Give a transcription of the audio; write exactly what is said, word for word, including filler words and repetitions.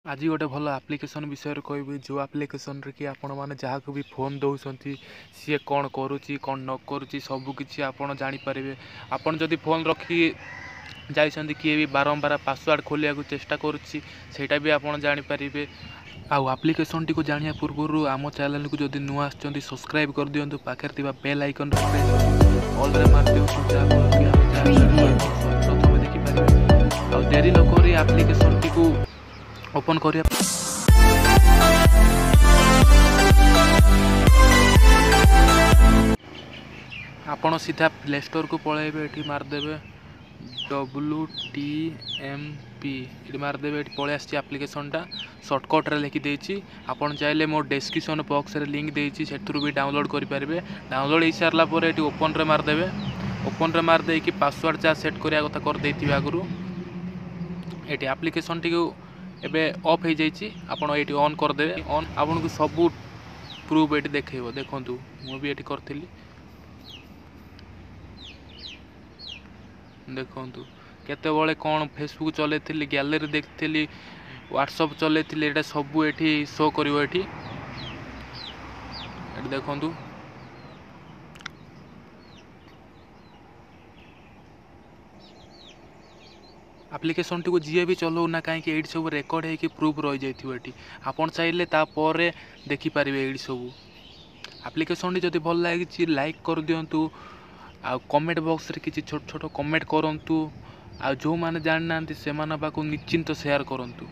ଆଜି ଗୋଟେ ଭଲ ଆପ୍ଲିକେସନ୍ ବିଷୟରେ କହିବି, ଯେଉଁ ଆପ୍ଲିକେସନ୍ରେ କି ଆପଣମାନେ ଯାହାକୁ ବି ଫୋନ୍ ଦେଉଛନ୍ତି, ସିଏ କ'ଣ କରୁଛି କ'ଣ ନ କରୁଛି ସବୁକିଛି ଆପଣ ଜାଣିପାରିବେ। ଆପଣ ଯଦି ଫୋନ୍ ରଖିକି ଯାଇଛନ୍ତି, କିଏ ବି ବାରମ୍ବାର ପାସୱାର୍ଡ଼ ଖୋଲିବାକୁ ଚେଷ୍ଟା କରୁଛି, ସେଇଟା ବି ଆପଣ ଜାଣିପାରିବେ। ଆଉ ଆପ୍ଲିକେସନ୍ଟିକୁ ଜାଣିବା ପୂର୍ବରୁ ଆମ ଚ୍ୟାନେଲକୁ ଯଦି ନୂଆ ଆସିଛନ୍ତି, ସବସ୍କ୍ରାଇବ୍ କରିଦିଅନ୍ତୁ, ପାଖରେ ଥିବା ବେଲ୍ ଆଇକନ୍ରେ ପ୍ରେସ୍ କରି ଅଲ୍ରେ ମାରିଦିଅନ୍ତୁ, ଯାହାଫଳରେ କି ଆମେ ଯାହା ଛାଡ଼ିବୁ ଆପଣ ପ୍ରଥମେ ଦେଖିପାରିବେ। ଆଉ ଡେରି ନକରି ଆପ୍ଲିକେସନ୍ଟିକୁ ଓପନ୍ କରିବା। ଆପଣ ସିଧା ପ୍ଲେ ଷ୍ଟୋରକୁ ପଳାଇବେ, ଏଠି ମାରିଦେବେ ଡବ୍ଲୁ ଟି ଏମ୍ ପି, ଏଠି ମାରିଦେବେ। ଏଠି ପଳେଇ ଆସିଛି ଆପ୍ଲିକେସନ୍ଟା, ସର୍ଟକଟ୍ରେ ଲେଖିଦେଇଛି। ଆପଣ ଚାହିଁଲେ ମୋ ଡେସ୍କ୍ରିପସନ୍ ବକ୍ସରେ ଲିଙ୍କ୍ ଦେଇଛି, ସେଥିରୁ ବି ଡାଉନଲୋଡ଼୍ କରିପାରିବେ। ଡାଉନଲୋଡ଼୍ ହେଇସାରିଲା ପରେ ଏଠି ଓପନ୍ରେ ମାରିଦେବେ। ଓପନ୍ରେ ମାରିଦେଇକି ପାସୱାର୍ଡ଼ ଯାହା ସେଟ୍ କରିବା କଥା କରିଦେଇଥିବେ ଆଗରୁ। ଏଠି ଆପ୍ଲିକେସନ୍ଟିକୁ ଏବେ ଅଫ୍ ହେଇଯାଇଛି, ଆପଣ ଏଇଠି ଅନ୍ କରିଦେବେ। ଅନ୍ ଆପଣଙ୍କୁ ସବୁ ପ୍ରୁଫ୍ ଏଠି ଦେଖେଇବ। ଦେଖନ୍ତୁ, ମୁଁ ବି ଏଠି କରିଥିଲି। ଦେଖନ୍ତୁ, କେତେବେଳେ କ'ଣ ଫେସବୁକ୍ ଚଲେଇଥିଲି, ଗ୍ୟାଲେରୀ ଦେଖିଥିଲି, ହ୍ୱାଟ୍ସଅପ୍ ଚଲେଇଥିଲି, ଏଇଟା ସବୁ ଏଠି ଶୋ କରିବ। ଏଠି ଏଠି ଦେଖନ୍ତୁ, ଆପ୍ଲିକେସନ୍ଟିକୁ ଯିଏ ବି ଚଲାଉନା କାହିଁକି, ଏଇଠି ସବୁ ରେକର୍ଡ଼ ହେଇକି ପ୍ରୁଫ୍ ରହିଯାଇଥିବ। ଏଠି ଆପଣ ଚାହିଁଲେ ତାପରେ ଦେଖିପାରିବେ ଏଇଠି ସବୁ। ଆପ୍ଲିକେସନ୍ଟି ଯଦି ଭଲ ଲାଗିଛି, ଲାଇକ୍ କରିଦିଅନ୍ତୁ ଆଉ କମେଣ୍ଟ ବକ୍ସରେ କିଛି ଛୋଟ ଛୋଟ କମେଣ୍ଟ କରନ୍ତୁ, ଆଉ ଯେଉଁମାନେ ଜାଣିନାହାନ୍ତି ସେମାନଙ୍କ ପାଖକୁ ନିଶ୍ଚିନ୍ତ ସେୟାର କରନ୍ତୁ।